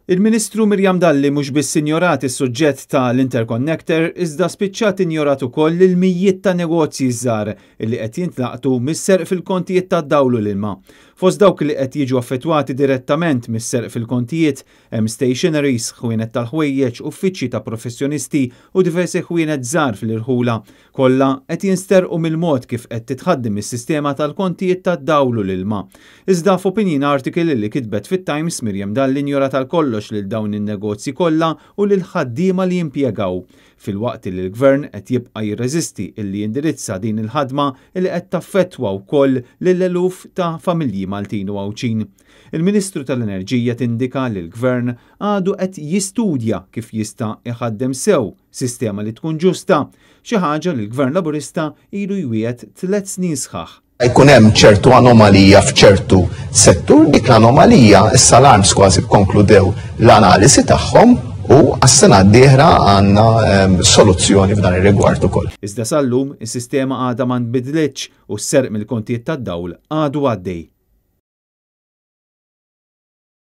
Il-Ministru Miriam Dalli mhux biss injorat is-suġġett ta' l-interconnector iżda spiċċat injorat ukoll lil mijiet ta' negozji żgħar li qed jintlaqtu mis-serq fil-kontijiet tad-dawl u l-ilma. Fost dawk li qed jiġu affettwati direttament mis-serq fil-kontijiet hemm stationeries, ħwienet tal-ħwejjeġ, uffiċċji ta' professjonisti u diversi ħwienet żgħar fl-irħula. Kollha qed jinsterqu mill-mod kif qed titħaddem is-sistema tal-kontijiet tad-dawl u l-ilma. Iżda f'opinion article li kitbet fit-Times, Miriam Dalli injorat għal kollox lil dawn in-negozji kollha u lill-ħaddiema li jimpjegaw. Filwaqt li l-Gvern qed jibqa' jirreżisti illi jindirizza din il-ħadma li qed taffettwa wkoll lil eluf ta' familji Maltin u Għawdxin. Il-Ministru tal-Enerġija tindika li l-Gvern għadu qed jistudja kif jista' iħaddem sew sistema li tkun ġusta, xi ħaġa li l-Gvern Laburista ilu jwiegħed tlett snin sħaħ. Jkun hemm ċertu anomalija f'ċertu settur, dik l-anomalija issa l-ARMS kważi kkonkludew l-analisi tagħhom u għas-sena d-dieħla għandna soluzzjoni f'dan ir-rigward ukoll. Iżda sal-lum is-sistema għadha ma nbidlitx u s-serq mill-kontijiet tad-dawl għadu għaddej.